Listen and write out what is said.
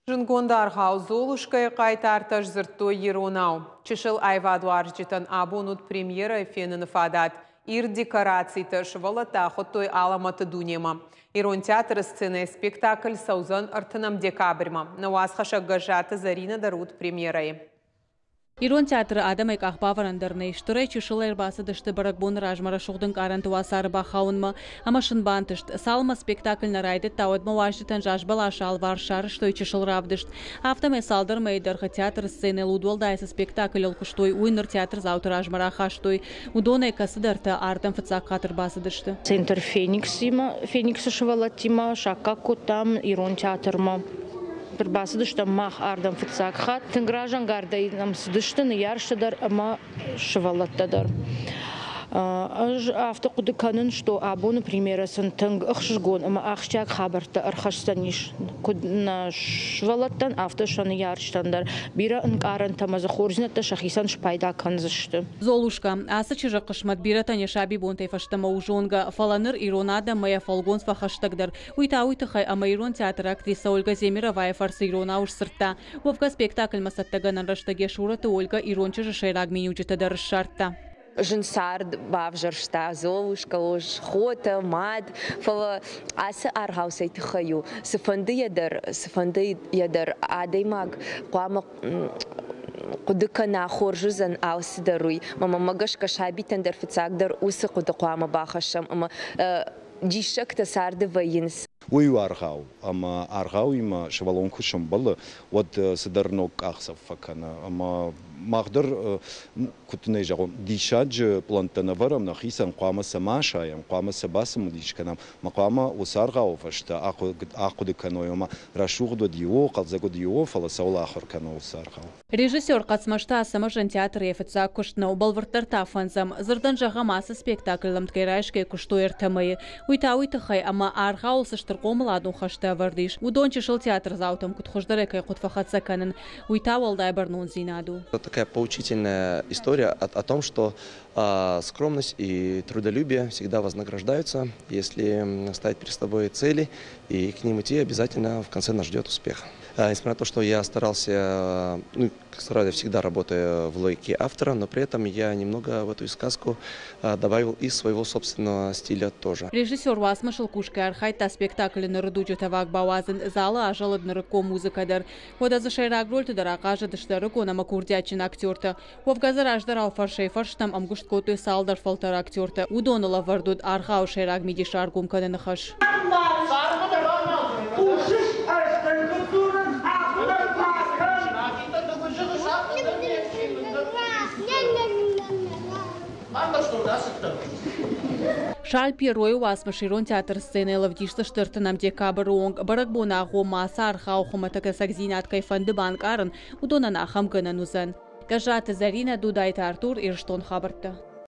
Зындгонд аргъау «Золушка-йы» хъайтартӕ сдзырдтой иронау. Чысыл аивадуарзджытӕн абон уыд премьерӕйы феныны фадат. Ирд декорациты сывӕллӕттӕ ахуыдтой алӕмӕты дунемӕ. Ирон театры сценӕйы спектакль цӕудзӕн 30 декабрьмӕ. Нӕ уацхӕссӕг Гӕззаты Зӕринӕ дӕр уыд премьерӕйы. Ирон театры адӕмӕй къахбавӕрӕн дӕр нӕй. Стырӕй чысылӕй ӕрбацыдысты бӕрӕгбоны размӕ рӕсугъд ӕнкъарӕнты уацары бахауынмӕ. Ӕмӕ сын бантыст. Цалынмӕ спектакль нӕ райдыдта, уӕдмӕ уазджытӕн зазбӕласы алыварс сарӕзтой чысыл равдыст. Афтӕмӕй цалдӕр мӕйы дӕргъы театры сценӕйыл удуӕлдай цы спектаклыл куыстой, уый ныр театрдзауты размӕ рахастой. Уыдонӕй кӕцыдӕртӕ ардӕм фыццаг хатт ӕрбацыдысты. Центр Фениксимӕ, Фениксы сывӕллӕттимӕ саккаг кодтам ирон театрмӕ. Ӕрбацыдыстӕм мах ардӕм фыццаг хатт. Тынг разӕнгардӕй нӕм цыдысты ныййарджытӕ дӕр ӕмӕ сывӕллӕттӕ дӕр. Ӕз афтӕ хъуыды кӕнын, что абоны премьерӕ сын тынг ӕхсызгон ӕмӕ ахсджиаг хабӕрттӕ ӕрхӕсдзӕнис куыд нӕ сывӕллӕттӕн, афтӕ сӕ ныййарджытӕн дӕр. Бирӕ ӕнкъарӕнтӕ ӕмӕ дзы хорздзинӕдтӕ сӕхицӕн спайда кӕндзысты. Золушка. Ацы чызджы хъысмӕт бирӕтӕн йӕ сабибонтӕй фӕстӕмӕ у зонгӕ, фӕлӕ ныр ирон адӕммӕ йӕ фӕлгонц фӕхӕстӕгдӕр. Уый та уый тыххӕй, ӕмӕ ирон театры актрисӕ Ольга Земеровайы фӕрцы иронау сдзырдта. Уӕвгӕ спектакльмӕ цӕттӕгӕнӕн рӕстӕг йӕ сурӕты Ольга ирон чызджы сӕйраг миниуджытӕ дӕр ссардта. Зын цард бавзӕрста Золушка, хотӕ, мад, фӕлӕ ацы аргъау цӕй тыххӕй у, цыфӕндыйӕ дӕр, цыфӕндыйӕ дӕр адӕймаг хъуамӕ хъуыды кӕна, хорз уыдзӕн алцыдӕр уый. Мӕнмӕ гӕсгӕ сабитӕн дӕр фыццагдӕр уыцы хъуыды хъуамӕ бахӕссӕм ӕмӕ диссӕгтӕ царды вӕййынц. Уый у аргъау, ӕмӕ аргъауимӕ сывӕллон куы сӕмбӕлы, уӕд цыдӕр ног къахдзӕф фӕкӕны. Ӕмӕ мах дӕр, куыд дын ӕй зӕгъон, диссаджы пълӕнттӕ нӕ вӕрӕм нӕхицӕн, хъуамӕ сӕ ма асайӕм, хъуамӕ сӕ бацымыдис кӕнӕм, ӕмӕ хъуамӕ уыцы аргъауы фӕстӕ ахъуыды кӕной, ома рӕсугъд уыд ио, хъӕлдзӕг уыд ио, фӕлӕ цӕуыл ахуыр кӕны уыцы аргъау. Режиссер Хъӕцмӕзты Ацӕмӕзӕн театры йӕ фыццаг куыст нӕу, бӕлвырддӕр та фӕндзӕм. Дзырдӕн зӕгъӕм, ацы спектакль ӕмткӕй райсгӕ куыстой ӕртӕ мӕйы. Уый та уый тыххӕй, ӕмӕ аргъауыл цы стыр хъомыладон хӕстӕ ӕвӕрд ис, уыдон чысыл театрдзаутӕм куыд хуыздӕрӕй кӕй хъуыд фӕхӕццӕ кӕнын, уый та уӕлдай бӕрнондзинад у. Такая поучительная история о том, что скромность и трудолюбие всегда вознаграждаются, если ставить перед собой цели и к ним идти, обязательно в конце нас ждет успех. Несмотря на то, что я старался, ну, стараюсь, всегда работаю в логике автора, но при этом я немного в эту сказку добавил и своего собственного стиля тоже. Режиссер уацмысыл кусгӕ архайдта спектаклы ныры дуджы тӕваг бауадзын, залы азӕлыд нырыккон музыкӕ дӕр. Уӕдӕ дзы сӕйраг рольты дӕр ахъазыдысты ӕрыгон ӕмӕ курдиатджын актертӕ. Уӕвгӕ дзы раздӕрау фӕрсӕй-фӕрстӕм ӕмгуыст кодтой цалдӕр фӕлтӕр актертӕ. Уыдоныл ӕвӕрд уыд аргъауы сӕйраг мидис раргом кӕныны хӕс. Шарль Перройы уацмыс ирон театры сценӕйыл ӕвдисдзысты 30 декабры онг. Бӕрӕгбоны агъоммӕ ацы аргъау хуымӕтӕг ӕцӕгдзинад кӕй фӕнды банкъарын, уыдонӕн ахӕм гӕнӕн уыдзӕн. Гӕззаты Зӕринӕ, Дудайты Артур, Ирыстон хабӕрттӕ.